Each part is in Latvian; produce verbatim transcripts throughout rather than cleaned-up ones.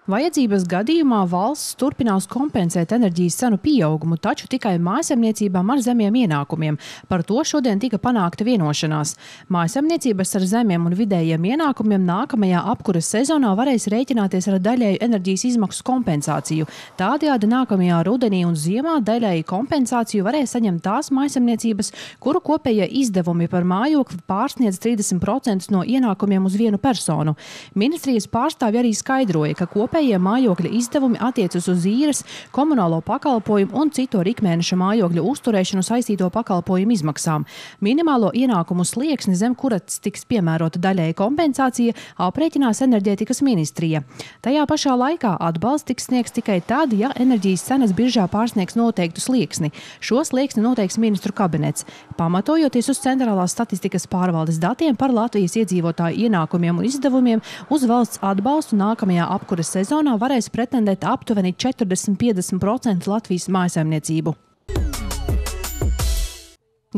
Vajadzības gadījumā valsts turpinās kompensēt enerģijas cenu pieaugumu, taču tikai mājsaimniecībām ar zemiem ienākumiem. Par to šodien tika panākta vienošanās. Mājsaimniecības ar zemiem un vidējiem ienākumiem nākamajā apkuras sezonā varēs rēķināties ar daļēju enerģijas izmaksu kompensāciju. Tādējādi nākamajā rudenī un ziemā daļēju kompensāciju varēs saņemt tās mājsaimniecības, kuru kopējie izdevumi par mājokli pārsniedz trīsdesmit procentus no ienākumiem uz vienu personu. Ministrijas pārstāvji arī skaidroja, ka kopējie Kopējie mājokļa izdevumi attiecas uz īres, komunālo pakalpojumu un citu ar ikmēneša mājokļa uzturēšanu saistīto pakalpojumu izmaksām. Minimālo ienākumu slieksni, zem kuras tiks piemērota daļēja kompensācija, aprēķinās enerģētikas ministrija. Tajā pašā laikā atbalsts tiks sniegs tikai tad, ja enerģijas cenas biržā pārsniegs noteiktu slieksni. Šo slieksni noteiks ministru kabinets. Pamatojoties uz centrālās statistikas pārvaldes datiem par Latvijas iedzīvotāju ienākumiem un izdevumiem, uz valsts atbalstu nākamajā apkuras sezonā Sezonā varēs pretendēt aptuveni četrdesmit līdz piecdesmit procenti Latvijas mājsaimniecību.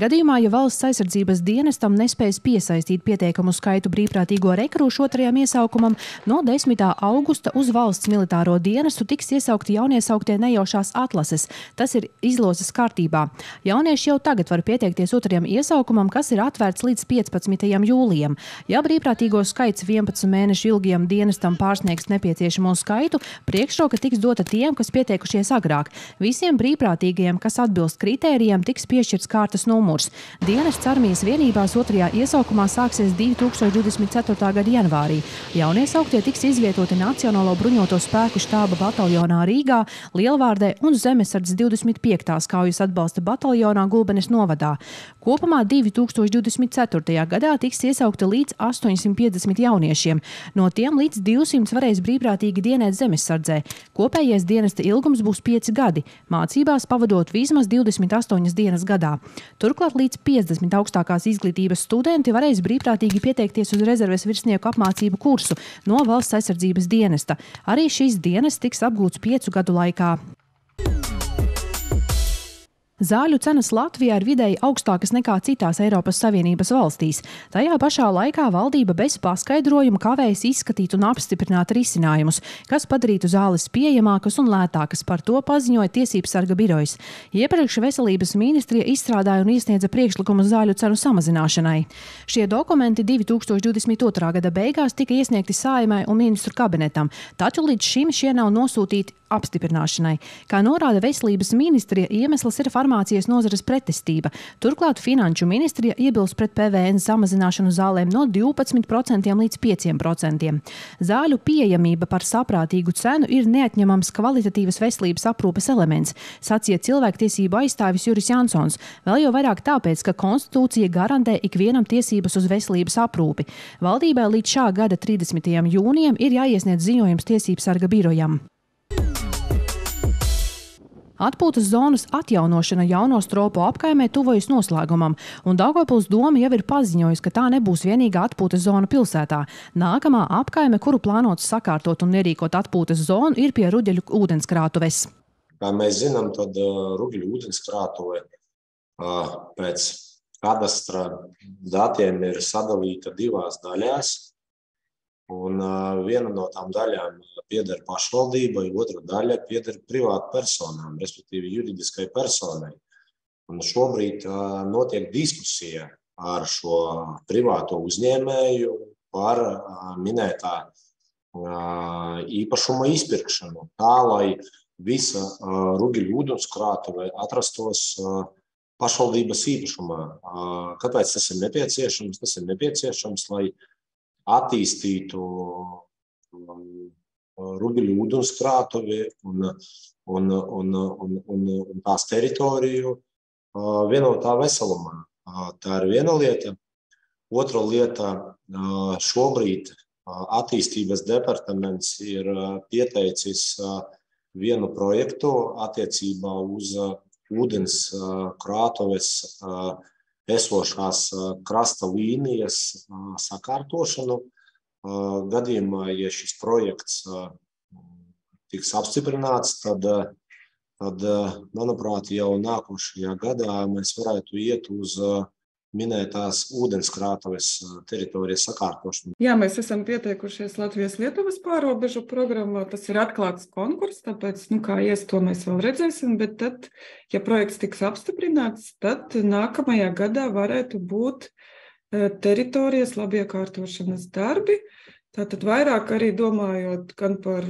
Gadījumā, ja valsts aizsardzības dienestam nespējas piesaistīt pietiekamu skaitu brīvprātīgo rekrūšu otrajam iesaukumam, no desmitā augusta uz valsts militāro dienestu tiks iesaukti jauniesauktie nejaušās atlases. Tas ir izlozes kārtībā. Jaunieši jau tagad var pieteikties otrajam iesaukumam, kas ir atvērts līdz piecpadsmitajam jūlijam. Ja brīvprātīgo skaits vienpadsmit mēnešu ilgajam dienestam pārsniegs nepieciešamo skaitu, priekšroka tiks dota tiem, kas pieteikušies agrāk. Visiem brīvprātīgajiem, kas atbilst kritērijiem, tiks piešķirts kārtas numurs. Dienests armijas vienībās otrajā iesaukumā sāksies divi tūkstoši divdesmit ceturtā gada janvārī. Jauniesauktie tiks izvietoti Nacionālo bruņoto spēku štāba bataljonā Rīgā, Lielvārdē un Zemesardzes divdesmit piektās kaujas atbalsta bataljonā Gulbenes novadā. Kopumā divi tūkstoši divdesmit ceturtajā gadā tiks iesaukti līdz astoņsimt piecdesmit jauniešiem. No tiem līdz divsimt varēs brīvprātīgi dienēt Zemesardzē. Kopējais dienesta ilgums būs pieci gadi, mācībās pavadot vismaz divdesmit astoņas dienas gadā. Turklāt līdz piecdesmit augstākās izglītības studenti varēs brīvprātīgi pieteikties uz rezerves virsnieku apmācību kursu no valsts aizsardzības dienesta. Arī šīs dienests tiks apgūts piecu gadu laikā. Zāļu cenas Latvijā ir vidēji augstākas nekā citās Eiropas Savienības valstīs. Tajā pašā laikā valdība bez paskaidrojuma kavējas izskatīt un apstiprināt risinājumus, kas padarītu zāles pieejamākas un lētākas. Par to paziņoja Tiesības sarga birojas. Iepriekš Veselības ministrija izstrādāja un iesniedza priekšlikumu zāļu cenu samazināšanai. Šie dokumenti divi tūkstoši divdesmit otrā gada beigās tika iesniegti Saeimai un ministru kabinetam, taču līdz šim šie nav nosūtīti apstiprināšanai. Kā norāda Veselības ministrija, iemesls ir farmācijas nozares pretestība. Turklāt Finanšu ministrija iebilst pret P V N samazināšanu zālēm no divpadsmit procentiem līdz pieciem procentiem. Zāļu pieejamība par saprātīgu cenu ir neatņemams kvalitatīvas veselības aprūpes elements, sacīja cilvēktiesību aizstāvis Juris Jansons. Vēl jau vairāk tāpēc, ka konstitūcija garantē ikvienam tiesības uz veselības aprūpi. Valdībai līdz šā gada trīsdesmitajam jūnijam ir jāiesniedz ziņojums Tiesības sarga birojam. Atpūtas zonas atjaunošana Jaunostropu apkaimē tuvojas noslēgumam, un Daugavpils doma jau ir paziņojusi, ka tā nebūs vienīgā atpūtas zona pilsētā. Nākamā apkaime, kuru plānots sakārtot un ierīkot atpūtas zonu, ir pie Ruģeļu ūdenskrātuves. Kā mēs zinām, tad uh, Ruģeļu ūdenskrātuve uh, pēc kadastra datiem ir sadalīta divās daļās. Un uh, viena no tām daļām pieder pašvaldībai, otra daļa pieder privātu personām, respektīvi juridiskai personai. Un šobrīd uh, notiek diskusija ar šo privāto uzņēmēju par uh, minētā uh, īpašuma izpirkšanu, tā lai visa uh, Ruģeļu ūdenskrātuve atrastos uh, pašvaldības īpašumā. Uh, kāpēc tas ir nepieciešams? Tas ir nepieciešams, lai attīstītu Ruģeļu ūdenskrātuvi un, un, un, un, un, un tās teritoriju vienotā veselumā. Tā ir viena lieta. Otra lieta, šobrīd attīstības departaments ir pieteicis vienu projektu attiecībā uz ūdens krātuves esošās krasta līnijas sakārtošanu. Gadījumā, ja šis projekts tiks apstiprināts, tad, tad, manuprāt, jau nākošajā gadā mēs varētu iet uz minētās ūdenskrātuves teritorijas sakārtošanu. Jā, mēs esam pieteikušies Latvijas-Lietuvas pārobežu programmā. Tas ir atklāts konkurss, tāpēc, nu, kā ies, to mēs vēl redzēsim, bet tad, ja projekts tiks apstiprināts, tad nākamajā gadā varētu būt teritorijas labiekārtošanas darbi. Tātad vairāk arī domājot gan par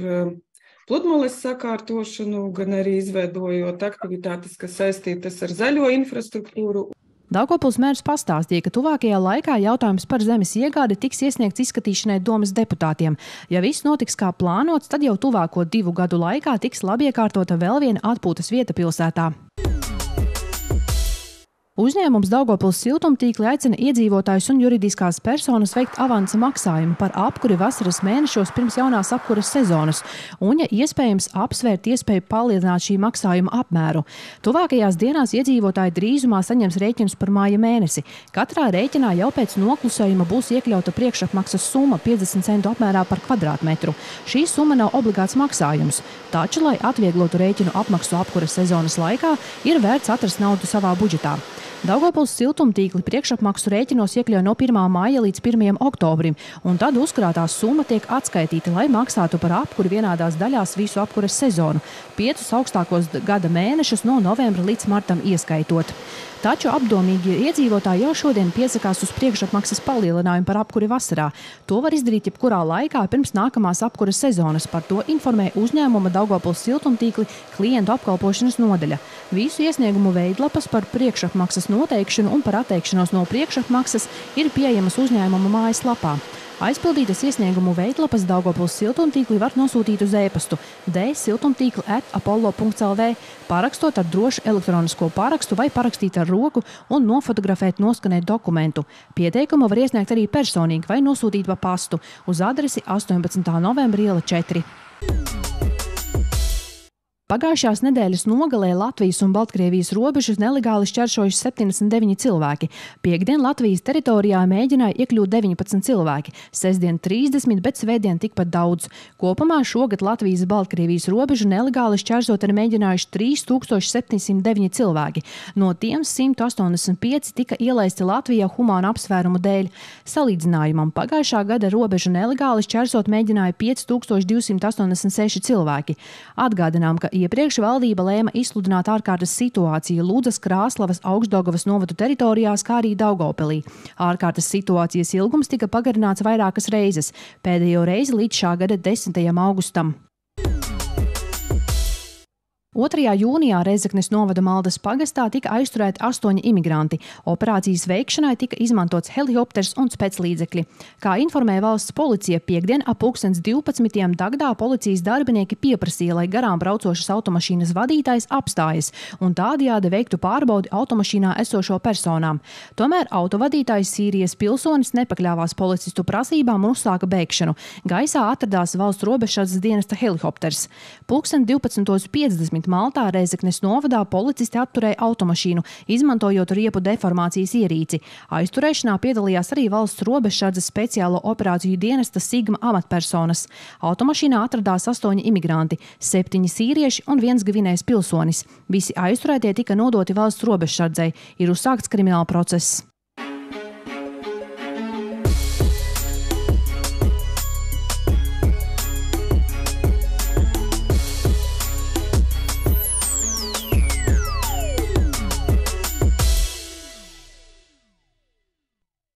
pludmales sakārtošanu, gan arī izveidojot aktivitātes, kas saistītas ar zaļo infrastruktūru. Daugavpils mērs pastāstīja, ka tuvākajā laikā jautājums par zemes iegādi tiks iesniegts izskatīšanai domas deputātiem. Ja viss notiks kā plānots, tad jau tuvāko divu gadu laikā tiks labiekārtota vēl viena atpūtas vieta pilsētā. Uzņēmums Daugavpils siltumtīkli aicina iedzīvotājus un juridiskās personas veikt avansa maksājumu par apkuri vasaras mēnešos pirms jaunās apkuras sezonas un, ja iespējams, apsvērt iespēju palielināt šī maksājuma apmēru. Tuvākajās dienās iedzīvotāji drīzumā saņems rēķinus par māja mēnesi. Katrā rēķinā jau pēc noklusējuma būs iekļauta priekšapmaksas summa piecdesmit centu apmērā par kvadrātmetru. Šī summa nav obligāts maksājums, taču, lai atvieglotu rēķinu apmaksu apkuras sezonas laikā, ir vērts atrast naudu savā budžetā. Daugavpils siltumtīkli priekšapmaksu rēķinos iekļauj no pirmā māja līdz pirmajam oktobrim, un tad uzkrātā summa tiek atskaitīta, lai maksātu par apkuri vienādās daļās visu apkuras sezonu, piecus augstākos gada mēnešus no novembra līdz martam ieskaitot. Taču apdomīgi iedzīvotāji jau šodien piesakās uz priekšapmaksas palielinājumu par apkuri vasarā. To var izdarīt jebkurā laikā pirms nākamās apkuras sezonas. Par to informē uzņēmuma Daugavpils siltumtīkli klientu apkalpošanas nodaļa. Visu iesniegumu veidlapas par priekšapmaksas noteikšanu un par atteikšanos no priekšapmaksas ir pieejamas uzņēmuma mājaslapā. Aizpildītas iesniegumu veidlapas Daugavpils siltumtīkli var nosūtīt uz e-pastu d siltumtīkli at apollo punkts l v, parakstot ar drošu elektronisko parakstu vai parakstīt ar roku un nofotografēt noskanēt dokumentu. Pieteikumu var iesniegt arī personīgi vai nosūtīt pa pastu uz adresi astoņpadsmitā novembra iela četri. Pagājušās nedēļas nogalē Latvijas un Baltkrievijas robežas nelegāli šķērsojuši septiņdesmit deviņi cilvēki. Piektdien Latvijas teritorijā mēģināja iekļūt deviņpadsmit cilvēki, sestdien trīsdesmit, bet svētdien tikpat daudz. Kopumā šogad Latvijas Baltkrievijas robežu nelegāli šķērsot ir mēģinājuši trīs tūkstoši septiņsimt deviņi cilvēki. No tiem simt astoņdesmit pieci tika ielaisti Latvijā humāna apsvērumu dēļ. Salīdzinājumam pagājušā gada robežu nelegāli šķērsot mēģināja pieci tūkstoši divsimt astoņdesmit seši cilvēki. Atgādinām, ka iepriekš valdība lēma izsludināt ārkārtas situāciju Ludzas, Krāslavas, Augšdaugavas novadu teritorijās, kā arī Daugavpilī. Ārkārtas situācijas ilgums tika pagarināts vairākas reizes, pēdējo reizi līdz šā gada desmitajam augustam. otrajā jūnijā Rēzeknes novada Maldas pagastā tika aizturēti astoņi imigranti. Operācijas veikšanai tika izmantots helikopters un speclīdzekļi. Kā informē valsts policija, piektdien ap pulkstens divpadsmitiem Dagdā policijas darbinieki pieprasīja, lai garām braucošas automašīnas vadītājs apstājas un tādējādi veiktu pārbaudi automašīnā esošo personām. Tomēr autovadītājs Sīrijas pilsonis nepakļāvās policistu prasībām un uzsāka bēgšanu. Gaisā atradās valsts robežsardzes dienesta helikopters. Pulksten divpadsmit piecdesmit Maltā Rēzeknes novadā policisti apturēja automašīnu, izmantojot riepu deformācijas ierīci. Aizturēšanā piedalījās arī valsts robežsardzes speciālo operāciju dienesta Sigma amatpersonas. Automašīnā atradās astoņi imigranti, septiņi sīrieši un viens Gvinējas pilsonis. Visi aizturētie tika nodoti valsts robežsardzei. Ir uzsākts krimināla process.